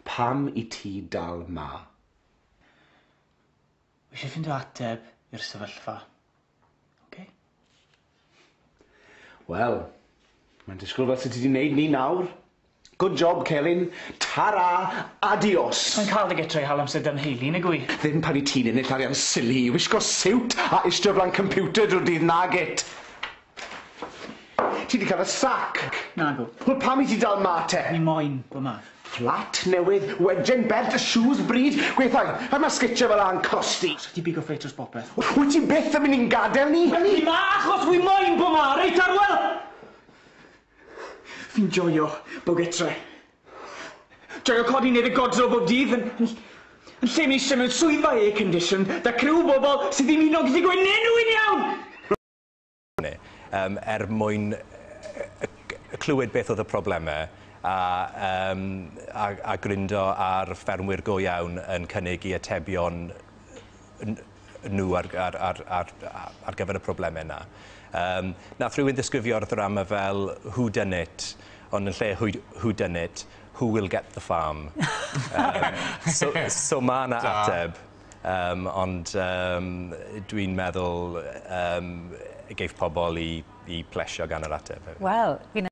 Pam i ti dal 'ma? Wi isie ffindo ateb i'r sefyllfa. Oce? Wel, mae'n disgwyl fel se ti 'di neud ni nawr. Good job, Celyn. Ta-ra, adios. Mae'n cael dy gytre i hal amser 'da 'nheulu, nag wy? Ddim pan i ti'n ennill arian silly i wisgo siwt a ishte o flaen computer drwy'r dydd nag it. Ti 'di cael y sac. Nagw. Wel, pam i ti dal 'ma te? Ni moyn bo 'ma. Fflat newydd, wejen bert, shoes bryd. Gweithio, a mae sgitio fel a'n costi. So ti bigo ffeit dros bopeth. Wyt ti byth yn mynd i'n gadael ni? Ni 'ma achos wi moyn bo 'ma, reit Arwel? Fi'n joio bo gytre. Joio codi neud y godro bob dydd yn lle mi eisiau mewn swyddfa air condition 'da criw o bobl sydd ddim hyd yn oed gallu gweud enw i'n iawn! Er mwyn clywed beth oedd y problemau a gryndo ar ffermwyr go iawn yn cynnig i atebion nhw ar gyfer y problemau yna. Nath rhywun ddisgrifio'r ddrama fel who done it, ond yn lle who done it, who will get the farm. So ma' 'na ateb, ond dwi'n meddwl geiff pobl i plesio gan yr ateb hefyd. Wel, fi'n